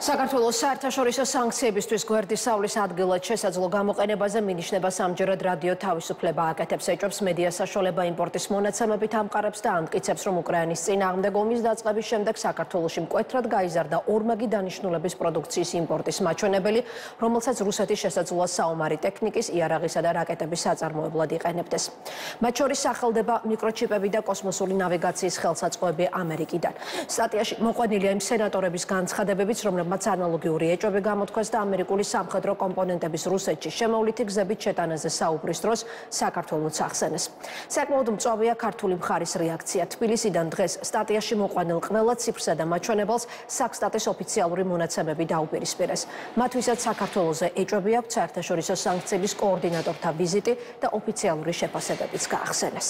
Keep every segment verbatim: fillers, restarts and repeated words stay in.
საქართველოს საერთაშორისო სანქციებისთვის გვერდის სავლის ადგილად შესაძლო გამოყენებაზე მინიშნებას ამჯერად რადიო თავისუფლება აკეთებს. ეჭვებს მედია საშუალება იმპორტის მონაცემებით ამყარებს და ამტკიცებს, რომ უკრაინის წინააღმდეგ ომის დაწყების შემდეგ საქართველოში მკვეთრად გაიზარდა ორმაგი დანიშნულების პროდუქციის იმპორტის მაჩვენებელი, რომელსაც რუსეთის შესაძლოა საომარი ტექნიკის, იარაღისა და რაკეტების საწარმოებლად იყენებდეს. მათ შორის სახელდება მიკროჩიპები და კოსმოსური ნავიგაციის ხელსაწყოები ამერიკიდან. სტატიაში მოყვანილია იმ სენატორების განცხადებებიც, რომლებმაც მათ ანალოგიური ეჭვები გამოთქვეს და ამერიკული სამხედრო კომპონენტების რუსეთში შემოვლითი გზებით შეტანაზე საუბრის დროს საქართველოს ახსენეს. საკმაოდ მწვავეა ქართული მხარის რეაქცია. თბილისიდან დღეს სტატიაში მოყვანილ ყველა ციფრსა და მაჩვენებელს საქსტატის ოფიციალური მონაცემები დაუპირისპირეს. მათთვისაც საქართველოზე ეჭვები აქვს საერთაშორისო სანქციების კოორდინატორთა ვიზიტი და ოფიციალური შეფასებებიც გაახსენეს.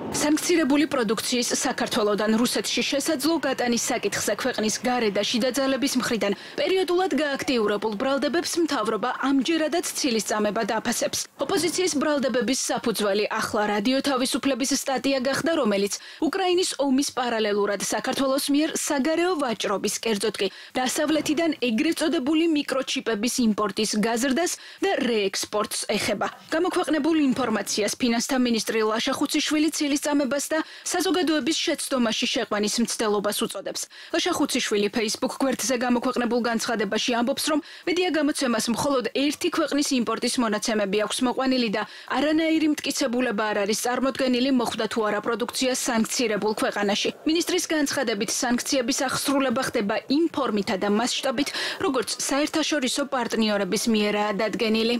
სანქცირებული პროდუქციის საქართველოდან რუსეთში შესაძლო გატანის საკითხზე ქვეყნის გარე და შიდა ძალების მხრიდან პერიოდულად გააქტიურებულ ბრალდებებს მთავრობა ამჯერადაც ცილისწამება დაფასებს. ოპოზიციის ბრალდებების საფუძველი ახლა რადიო თავისუფლების სტატია გახდა, რომელიც უკრაინის ომის პარალელურად საქართველოს მიერ საგარეო ვაჭრობის, კერძოდ კი დასავლეთიდან ეგრეთ წოდებული მიკროჩიპების იმპორტის გაზრდას და რეექსპორტს ეხება. გამოქვეყნებულ ინფორმაციას ფინანსთა მინისტრი ლაშა ხუციშვილი წამებას და საზოგადოების შეცდომაში შეყვანის მცდელობას უწოდებს. ლაშა ხუციშვილი Facebook გვერდზე გამოქვეყნებულ განცხადებაში ამბობს, რომ მედია გამოცემას მხოლოდ ერთი ქვეყნის იმპორტის მონაცემები აქვს მოყვანილი და არანაირი მტკიცებულება არ არის წარმოდგენილი მოხვდა თუ არა პროდუქცია სანქცირებულ ქვეყანაში. მინისტრის განცხადებით სანქციების აღსრულება ხდება იმ ფორმითა და მასშტაბით, როგორც საერთაშორისო პარტნიორების მიერაა დადგენილი.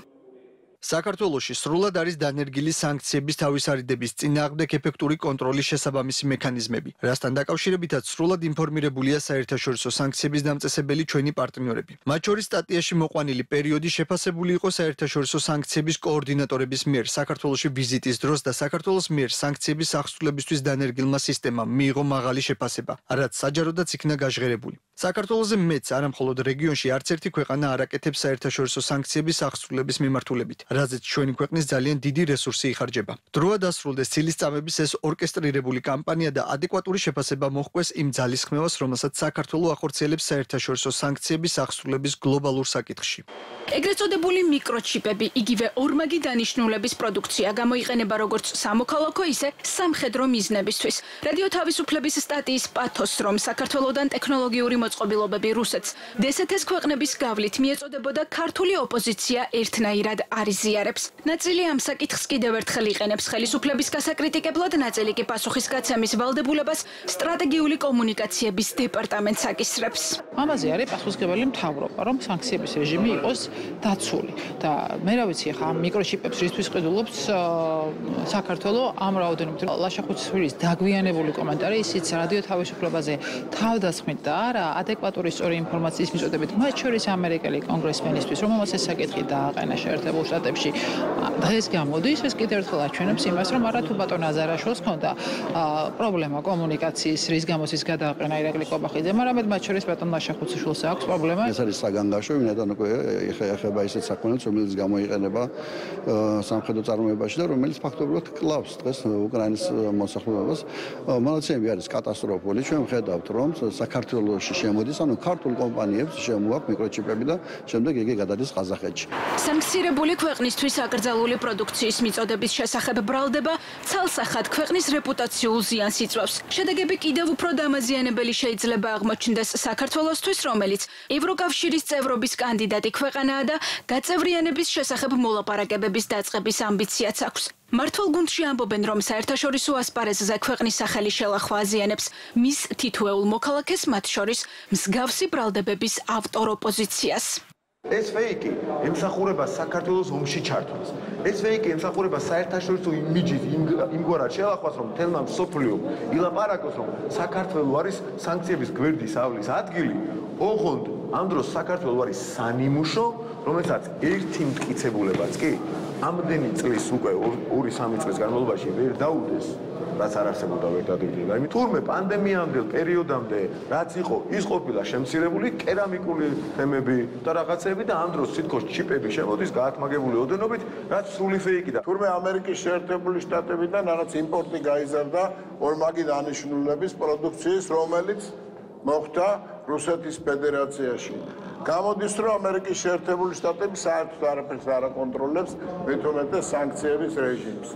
საქართველოში სრულად არის დანერგილი სანქციების თავისარიდების წინააღმდეგ ეფექტური კონტროლის შესაბამისი მექანიზმები, რასთან დაკავშირებითაც სრულად ინფორმირებულია საერთაშორისო სანქციების დამწესებელი ჩვენი პარტნიორები. მათ შორის სტატიაში მოყვანილი პერიოდი შეფასებული იყო საერთაშორისო სანქციების კოორდინატორების მიერ საქართველოში ვიზიტის დროს და საქართველოს მიერ სანქციების აღსრულებისთვის დანერგილმა სისტემამ მიიღო მაღალი შეფასება, რაც საჯაროდაც იქნა გაჟღერებული. საქართველოზე მეც არამხოლოდ რეგიონში არც ერთი ქვეყანა არ აკეთებს საერთაშორისო სანქციების აღსრულების მიმართულებით. რაზეც ჩვენი ქვეყნის ძალიან დიდი რესურსი იხარჯება. დროა დასრულდეს ცილისწამების ეს ორკესტრირებული კამპანია და ადეკვატური შეფასება მოჰყვეს იმ ძალისხმევას, რომელსაც საქართველოს ახორციელებს საერთაშორისო სანქციების აღსრულების გლობალურ საკითხში. ეგრეთ წოდებული მიკროჩიპები, იგივე ორმაგი დანიშნულების პროდუქცია გამოიყენება როგორც სამოქალაქო, ისე სამხედრო მიზნებისთვის. რადიო თავისუფლების სტატიის პათოსს, რომ საქართველოსთან ტექნოლოგიური მოწყობილობები რუსეთს დსთ-ს ქვეყნების გავლით მიეწოდებოდა, ქართული ოპოზიცია ერთნაირად არის ზიარებს. ნაწილი ამ საკითხს კიდევ ერთხელ იყენებს ხელისუფლების გასაკრიტიკებლად, ნაწილი კი პასუხისგაცემის ვალდებულებას სტრატეგიული კომუნიკაციების დეპარტამენტს აკისრებს. ამაზე არის პასუხისმგებელი მთავრობა, რომ სანქციების რეჟიმი იყოს დაცული და მე რა ვიცი ხა ამ მიკროჩიპებს რისთვის ყიდულობს საქართველოს ამ რაოდენობით. ლაშა ხუციშვილის დაგვიანებული კომენტარი ისიც რადიო თავისუფლებაზე თავდასხმით და არა ადეკვატური სწორი ინფორმაციის მიწოდებით, მათ შორის ამერიკელი კონგრესმენისთვის, რომელმაც ეს საკითხი დააყენა შეერთებულ შტატებში. დღეს გამოდის, ეს კიდევ ერთხელ აჩვენებს იმას, რომ არა თუ ბატონ აზარაშვილს ჰქონდა პრობლემა კომუნიკაციის, რის გამოც ის გადააყენა ირაკლი კობახიძემ, არამედ მათ შორის ბატონ ლაშა ხუციშვილს აქვს პრობლემა. ეს არის საგანგაშო, ვინაიდან უკვე ეხება ისეთ საქმეებს, რომელიც გამოიყენება სამხედრო წარმოებაში და რომელიც ფაქტობრივად კლავს დღეს უკრაინის მოსახლეობას. მონაცემები არის კატასტროფული. ჩვენ ვხედავთ, რომ საქართველოში შემოდის, ანუ ქართულ კომპანიებს შემოაქვს მიკროჩიპები და შემდეგ იგი გადადის ყაზახეთში. სანქცირებული ქვეყნისთვის აკრძალული პროდუქციის მიწოდების შესახებ ბრალდება ცალსახად ქვეყნის რეპუტაციულ ზიანს იწვევს. შედეგები კიდევ უფრო დამაზიანებელი შეიძლება აღმოჩნდეს საქართველოსთვის, რომელიც ევროკავშირის წევრობის კანდიდატი ქვეყანაა და გაწევრიანების შესახებ მოლაპარაკებების დაწყების ამბიციაც აქვს. მართლ გუნდში ამბობენ, რომ საერთაშორისო ასპარეზზე ქვეყნის სახელი შელახვა აზიანებს მის თითოეულ მოქალაქეს, მათ შორის მსგავსი ბრალდებების ავტორ ოპოზიციას. ეს ფეიკი ემსახურება საქართველოს ომში ჩართვას. ეს ფეიკი ემსახურება საერთაშორისო იმიჯის იმგვარად შელახვას, რომ თელმა მსოფლიო ილაპარაკოს, რომ საქართველო არის სანქციების გვერდის ავლის ადგილი. ოღონდ ამ დროს საქართველო არის სანიმუშო, რომელსაც ერთი მტკიცებულებაც კი ამდენი წლის უკვე ორი სამი წლის განმავლობაში ვერ დაუდეს. რაც არ არსებობდა ვერ დადიოდა. იმით თურმე პანდემიამდელ პერიოდამდე რაც იყო, ის ყოფილა შემცირებული კერამიკული თემები და რაღაცები და ამ დროს თითქოს ჩიპები შემოდის გაათმაგებული ოდენობით, რაც სრული ფეიკი და თურმე ამერიკის შეერთებული შტატებიდან რაღაც იმპორტი გაიზარდა ორმაგი დანიშნულების პროდუქციის, რომელიც მოხდა რუსეთის ფედერაციაში. გამოდის, რომ ამერიკის შეერთებული შტატები საერთოდ არაფერს არ აკონტროლებს, მით უმეტეს სანქციების რეჟიმს.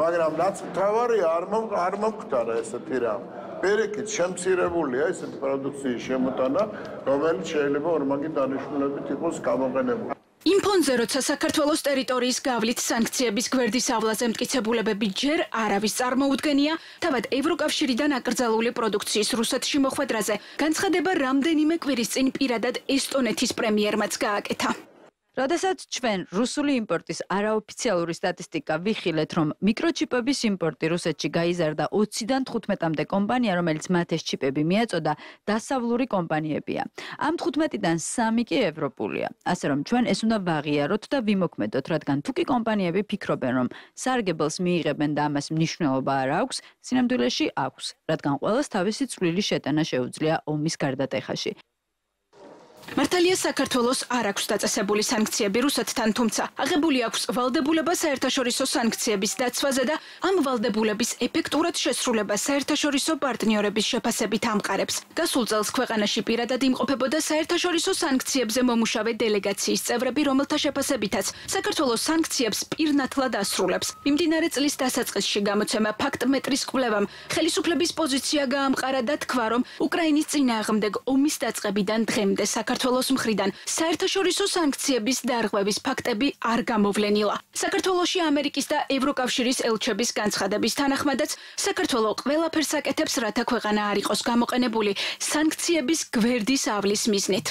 მაგრამ ნაცმთავარი არ არ მომხდარა ესეთი რამ. პირიქით შემცირებულია ესეთი პროდუქციის შემოტანა, რომელიც შეიძლება ორმაგი დანიშნულებით იყოს გამოყენებული. იმ ფონზე, როცა საქართველოს ტერიტორიის გავლით სანქციების გვერდის ავლაზე მტკიცებულებები ჯერ არავის წარმოუდგენია, თავად ევროკავშირიდან აკრძალული პროდუქციის რუსეთში მოხვედრაზე განცხადება რამდენიმე კვირის წინ პირადად ესტონეთის პრემიერმაც გააკეთა. როდესაც ჩვენ რუსული იმპორტის არაოფიციალური სტატისტიკა ვიხილეთ, რომ მიკროჩიპების იმპორტი რუსეთში გაიზარდა ოციდან თხუთმეტამდე კომპანია, რომელიც მათ ეს ჩიპები მიაწოდა, დასავლური კომპანიებია. ამ თხუთმეტიდან სამი კი ევროპულია. ასე რომ ჩვენ ეს უნდა ვაღიაროთ და ვიმოქმედოთ, რადგან თუ კი კომპანიები ფიქრობენ, რომ სარგებელს მიიღებენ და ამას მნიშვნელობა არ აქვს, სინამდვილეში აქვს, რადგან ყველას თავისი წვლილი შეტანა შეუძლია ომის გარდატეხაში. მართალია საქართველოს არ აქვს დაწესებული სანქციები რუსეთთან, თუმცა აღებული აქვს ვალდებულება საერთაშორისო სანქციების დაცვაზე და ამ ვალდებულების ეფექტურად შესრულება საერთაშორისო პარტნიორების შეფასებით ამყარებს. გასულ წელს ქვეყანაში პირადად იმყოფებოდა საერთაშორისო სანქციებზე მომუშავე დელეგაციის წევრები, რომელთა შეფასებითაც საქართველოს სანქციებს პირნათლად ასრულებს. მიმდინარე წლის დასაწყისში გამოცემა ფაქტ-მეტრის კვლევამ ხელისუფლების პოზიცია გაამყარა და თქვა, რომ უკრაინის წინააღმდეგ ომის დაწყებიდან დღემდე საქართველოს საქართველოს მხრიდან საერთაშორისო სანქციების დარღვევის ფაქტები არ გამოვლენილა. საქართველოში ამერიკის და ევროკავშირის ელჩების განცხადების თანახმადაც საქართველო ყველაფერს აკეთებს, რათა ქვეყანა არ იყოს გამოყენებული სანქციების გვერდის ავლის მიზნით.